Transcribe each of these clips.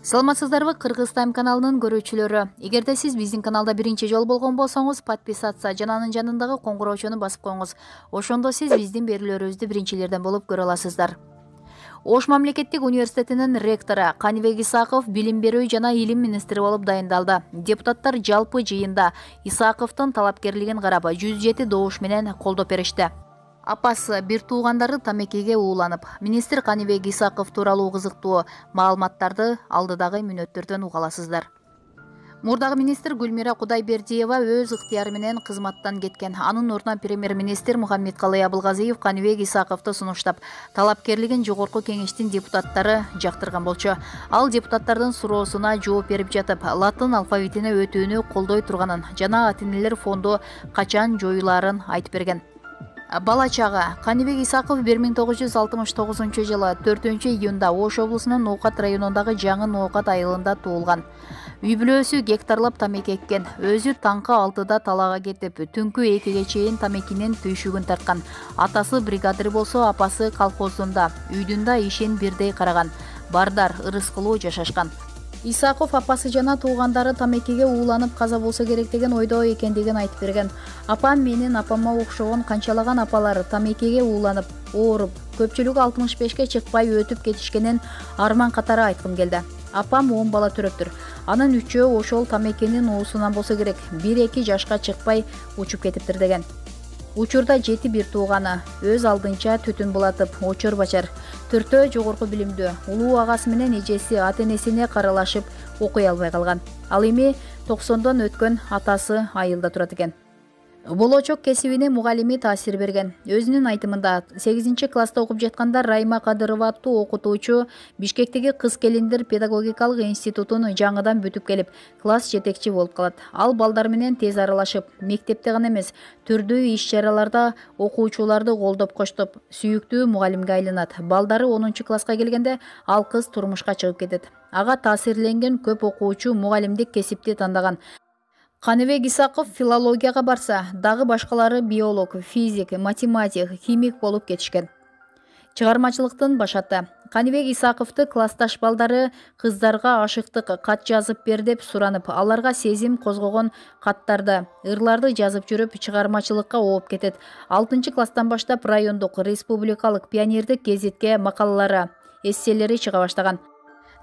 Саламатсыздарбы, Кыргыз Тайм каналынын көрүүчүлөрү. Эгерде сиз биздин каналда биринчи жолу болгон болсоңуз, подписаться жана анын жанындагы коңгуроочуну басып коюңуз. Ошондо сиз биздин берүүлөрүбүздү биринчилерден болуп көрө аласыздар. Ош мамлекеттик университетинин ректору Каныбек Исаков билим берүү жана илим министри болуп дайындалды. Депутаттар жалпы жыйында Исаковдун талапкерлигин карап 107 добуш менен колдоп беришти. Апасы бир туугандары тамекиге ууланып, министр Каныбек Исаков тууралуу кызыктуу маалыматтарды алдыдагы мүнөттөрдөн уга аласыздар. Мурдагы министр Гүлмира Кудайбердиева өз ыктыяры менен кызматтан кеткен. Анын ордуна премьер-министр Мухаммедкалый Абылгазиев Каныбек Исаковду сунуштап, талапкерлигин жогорку кеңештин депутаттары жактырган болчу. Ал депутаттардын суроосуна жооп берип жатып, латын алфавитине өтүүнү колдой турганын жана ата-энелер фонду качан жоюлаарын айтып берген. Бала чага Каныбек Исаков 1969 жылы 4-июнда Ош облусунун Ноокат районундагы Жаңы Ноокат айылында туулган. Үй бүлөсү гектарлап тамеки эккен. Өзү таңкы 6-да талаага кетип, түнкү 2-ге чейин тамекинин түйшүгүн тарткан. Атасы бригадир болсо, апасы колхоздунда, үйдүн да ишин бирдей караган. Бардар, ырыскылуу жашашкан. Исаков апасы жана туугандары тамекиге ууланып каза болсо керек деген ойдо экендигин айтып берген. Апам менин апама окшогон канчалаган апалар тамекиге ууланып, ооруп, көпчүлүгү 65-ке чыкпай өтүп кетишкенин арман катары айткым келди. Апам 10 бала төрөптүр. Анын 3-өө ошол тамекинин уусунан болсо керек, 1-2 жашка чыкпай учуп кетиптир деген. Учурда 7 бир тууганы, өз алдынча түтүн булатып, очор бачар. 4-өө жогорку билимдүү, улуу агасы менен эжеси ата-энесине каралашып окуй албай калган. Ал эми 90дон өткөн атасы айылда турат экен. Болочок кесибине мугалими таасир берген. Өзүнүн айтымында 8-класста окуп жатканда Райма Кадырова аттуу окутуучу Бишкектеги кыз келиндер педагогикалык институтун жаңыдан бүтүп келип, класс жетекчи болуп калат. Ал балдар менен тез аралашып, мектепте гана эмес, түрдүү иш-чараларда окуучуларды колдоп коштоп, сүйүктүү мугалимге айланат. Балдары 10-класска келгенде ал кыз турмушка чыгып кетет. Ага таасирленген көп окуучу мугалимдик кесипти тандаган. Каныбек Исаков филологияга барса, дагы башкалары биолог, физик, математик, химик болуп кетишкен. Чыгармачылыктын башаты. Каныбек Исаковду классташ балдары кыздарга ашыктык кат жазып бер деп суранып, аларга сезим козгогон каттарды, ырларды жазып жүрүп чыгармачылыкка ооп кетет. 6-класстан баштап райондук, республикалык, пионердик гезитке макалалары, эсселери чыга баштаган.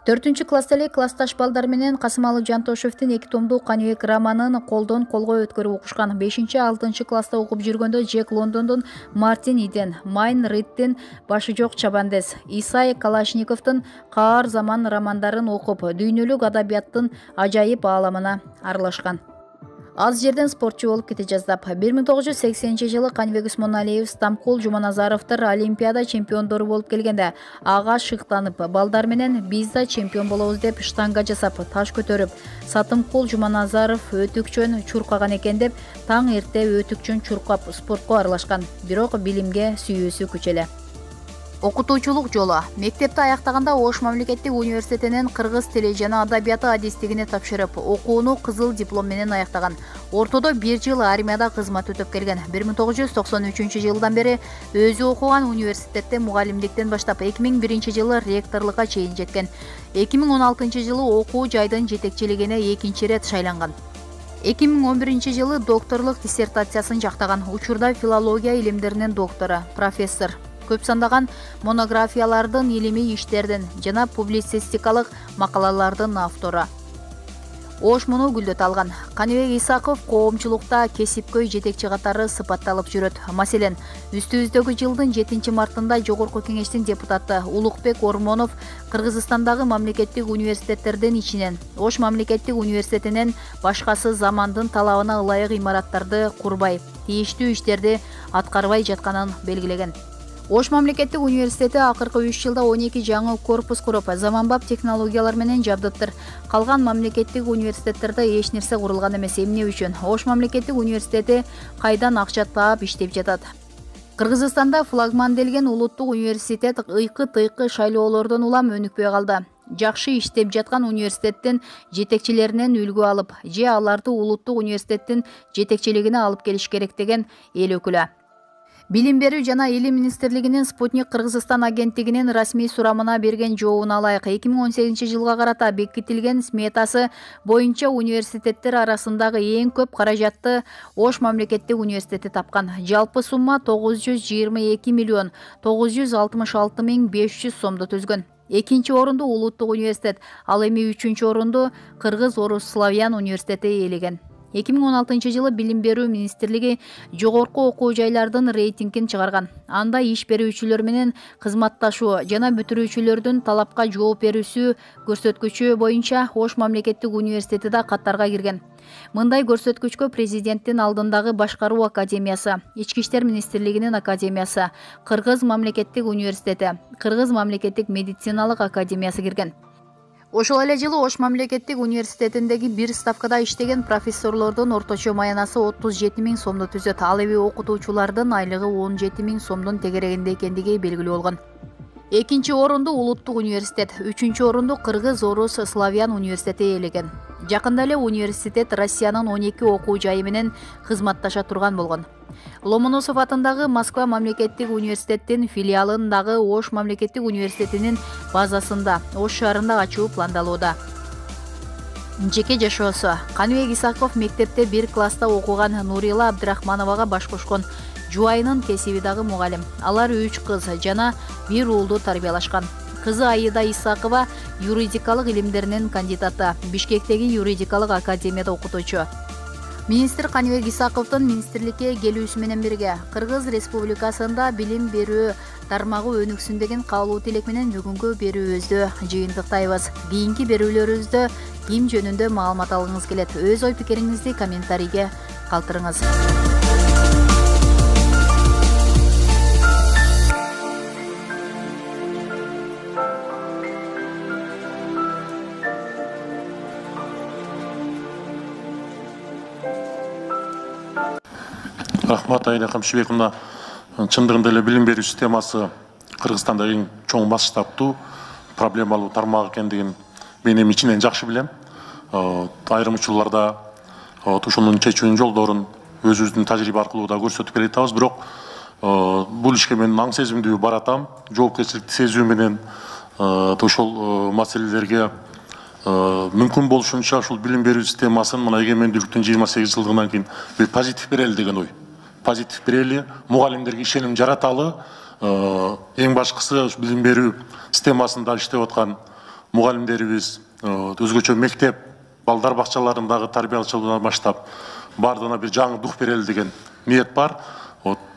4-класста эле классташ балдар менен Касымалы Жантошевдин 2 томдуу Каныбек романын колдон колго өткөрүп окушкан. 5-6-класста окуп жүргөндө Джек Лондондун Мартин Иден, Майн Риттин Башы жок чабандес, Исай Калашниковдун Каар заман романдарын окуп, дүйнөлүк адабияттын ажайып ааламына аралашкан. Аз жерден спортчу болуп кете жаздап, 1980-жылы Каныбек Усмоналиев, Стамкул Жуманазаровдор Олимпиада чемпиондору болуп келгенде, ага шыктанып, балдар менен биз да чемпион болобуз деп штанга жасап, таш көтөрүп, Сатымкул Жуманазаров өтүкчөн чуркаган экен деп, таң эрте өтүкчөн чуркап спортко аралашкан. Бирок билимге сүйүүсү күч эле. Окутуучулук жолу. Мектепти аяктаганда Ош мамлекеттик университетинин кыргыз тили жана адабияты адистигине тапшырып, окууну кызыл диплом менен аяктаган. Ортодо 1 жыл армияда кызмат өтөп келген. 1993-жылдан бери өзү окуган университетте мугалимдиктен баштап 2001-жылы ректорлукка чейин жеткен. 2016-жылы окуу жайдын жетекчилигине 2 рет шайланган. 2011-жылы докторлук диссертациясын жактаган. Учурда филология илимдеринин доктору, профессор. Көп сандаган монографиялардын, илимий иштердин жана публицистикалык макалалардын автору. Ош муну гүлдөт алган. Каныбек Исаков коомчулукта кесипкөй жетекчи катары сыпатталып жүрөт. Маселен, үстүбүздөгү жылдын 7-мартында Жогорку кеңештин депутаты Улукбек Ормонов Кыргызстандагы мамлекеттик университеттердин ичинен Ош мамлекеттик университетинен башкасы замандын талабына ылайык имараттарды курбай, тийиштүү иштерди аткарбай жатканын белгилеген. Ош мамлекеттик университети акыркы 3 жылда 12 жаңы корпус куруп, заманбап технологиялар менен жабдыттыр. Калган мамлекеттик университеттерде эч нерсе курулган эмес. Эмне үчүн? Ош мамлекеттик университети кайдан акча таап иштеп жатат. Кыргызстанда флагман делген улуттук университет ыйкы-тыйкы шайлоолордон улам өнүкпөй калды. Жакшы иштеп жаткан университеттин жетекчилеринен үлгү алып, же аларды улуттук университеттин жетекчилигине алып келиш керек деген эл өкүлү. Билим берүү жана илим министрлигинин Спутник Кыргызстан агенттигинин расмий сурамына берген жообун алайык. 2018 жылга карата бекитилген сметасы боюнча университеттер арасындагы эң көп каражатты Ош мамлекеттик университети тапкан. Жалпы сумма 922 миллион 966 миң 500 сомду түзгөн. Экинчи орунду Улуттук университет, ал эми үчүнчү орунду Кыргыз Орус Славян университети ээлеген. 2016 жылы Билим берүү министрлиги жогорку окуу жайлардын рейтингин чыгарган. Анда иш берүүчүлөр менен кызматташуу жана бүтүрүүчүлөрдүн талапка жооп берүүсү көрсөткүчү боюнча Ош мамлекеттик университети да каттарга кирген. Мындай көрсөткүчкө президенттин алдындагы башкаруу академиясы, Ички иштер министрлигинин академиясы, Кыргыз мамлекеттик университети, Кыргыз мамлекеттик медициналык академиясы кирген. Ошол эле жылы Ош мамлекеттик университетиндеги бир ставкада иштеген профессорлордун орточо маянасы 37 миң сомду түзөт. Ал эми окутуучулардын айлыгы 17 миң сомдун тегерегинде экендиги белгилүү болгон. Экинчи орунду Улуттук университет, үчүнчү орунду Кыргыз Орус Славян университети ээлеген. Жакында эле университет Россиянын 12 окуу жайы менен кызматташа турган болгон. Ломоносов атындагы Москва мамлекеттик университеттин филиалын дагы Ош мамлекеттик университетинин базасында Ош шаарында ачуу пландалууда. Жеке жашоосу. Каныбек Исаков мектепте бир класста окуган Нурила Абдрахмановага баш кошкон. Жубайынын кесиби дагы мугалим. Алар 3 кыз жана 1 уулду тарбиялашкан. Кызы Аида Исакова юридикалык илимдеринин кандидаты, Бишкектеги юридикалык академияда окутуучу. Министр Каныбек Исаковдун министрликке келүүсү менен бирге Кыргыз Республикасында билим берүү тармагы өнүксүн деген каалоо тилек менен бүгүнкү берүүбүздү жыйынтыктайбыз. Кийинки берүүлөрүбүздө ким жөнүндө маалымат алгыңыз келет? Өз ой пикириңизди комментарийге калтырыңыз. Рахмат Аида Камшыбековна. Чындыгында эле билим берүү системасы Кыргызстанда эң чоң масштабтуу проблемалуу тармак экендигин мен эми ичинен жакшы билем. Айрым учурларда ушунун чечүүнүн жолдорун өзүбүздүн тажрыйба аркылуу да көрсөтүп келе жатабыз. Бирок бул ишке мен аң сезимдүү баратам. Жоопкерчиликти сезүү менен ошол маселелерге мүмкүн болушунча ушул билим берүү системасын мына эгемендүүлүктүн 28 жылдыгынан кийин бир позитив берели деген ой. Позитив берели, мугалимдерге ишеним жараталы. Эң башкысы билим берүү системасында иштеп аткан мугалимдерибиз өзгөчө мектеп, балдар бакчаларындагы тарбиялаучылардан баштап бардыгына бир жаңы дух берели деген ниет бар.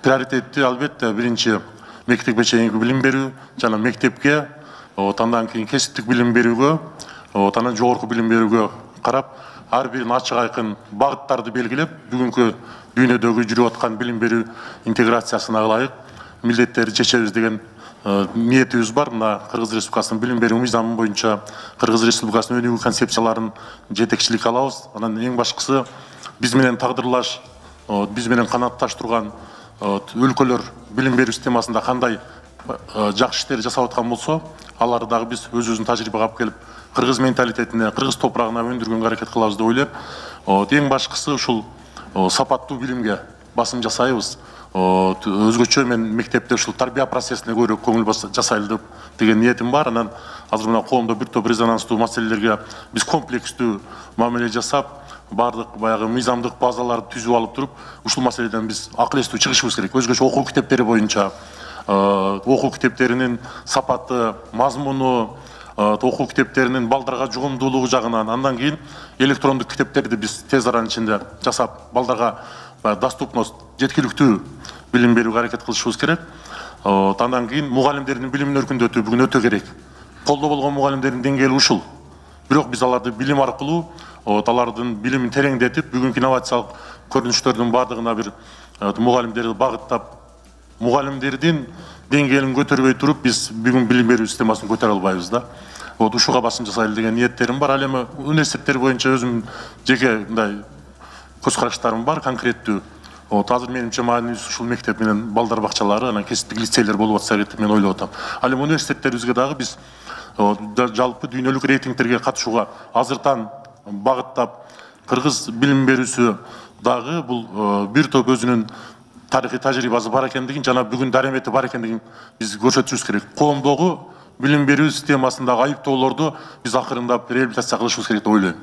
Приоритетти албетте биринчи мектепке чейинки билим берүү жана мектепке, андан кийин кесиптик билим берүүгө, анан жогорку билим берүүгө карап, ар бирин ачык айкын багыттарды белгилеп, бүгүнкү дүйнөдөгү жүрүп аткан билим берүү интеграциясына ылайык милдеттерди чечебиз деген ниетибиз бар. Мына Кыргыз Республикасынын билим берүү мыйзамы боюнча Кыргыз Республикасынын өнүгүү концепцияларын жетекчилик алабыз. Анан эң башкысы биз менен тагдырлаш, биз менен канатташ турган өлкөлөр билим берүү системасында кандай жакшы иштер жасап аткан болсо, аларды дагы биз өзүбүздүн тажрыйбага алып келип, кыргыз менталитетине, кыргыз топурагына өндүргөнгө аракет кылабыз деп ойлойм. Эң башкысы ушул сапаттуу билимге басым жасайбыз. Өзгөчө мен мектепте ушул тарбия процессине көбүрөөк көңүл жасайлы деген ниетим бар. Анан азыр мына коомдо бир топ резонанстуу маселелерге биз комплекстүү мамиле жасап, бардык баягы мыйзамдык базаларды түзүп алып туруп, ушул маселеден биз акыл эстүү чыгышыбыз керек. Өзгөчө окуу китептери боюнча окуу китептеринин сапаты, мазмуну, окуу китептеринин балдарга жугумдуулугу жагынан, андан кийин электрондук китептерди биз тез аранын ичинде жасап, балдарга доступность, жеткиликтүү билим берүүгө аракет кылышыбыз керек. Андан кийин мугалимдердин билимин өркүндөтүү бүгүн өтө керек. Колдо болгон мугалимдердин деңгээли ушул. Бирок биз аларды билим аркылуу, алардын билимин тереңдетип, бүгүнкү инновациялык көрүнүштөрдүн бардыгына бир мугалимдерди багыттап, мугалимдердин деңгээлин көтөрбөй туруп, биз бүгүн билим берүү системасын көтөрө албайбыз да. Ушуга басым жасайлы деген ниеттерим бар. Ал эми университеттер боюнча өзүм жеке мындай көз караштарым бар, конкреттүү. Азыр менимче маанилүүсү ушул мектеп менен балдар бакчалары, анан кесиптик лицейлер болуп атса керек деп мен ойлоп атам. Ал эми университеттерибизге дагы биз жалпы дүйнөлүк рейтингтерге катышууга азыртан багыттап, кыргыз билим берүүсү дагы бул бир топ өзүнүн тарыхый тажрыйбасы бар экендигин жана бүгүн дарамети бар экендигин биз көрсөтүшүбүз керек. Коомдогу билим берүү системасындагы айыптоолорду биз акырындап реабилитация кылышыбыз керек деп ойлойм.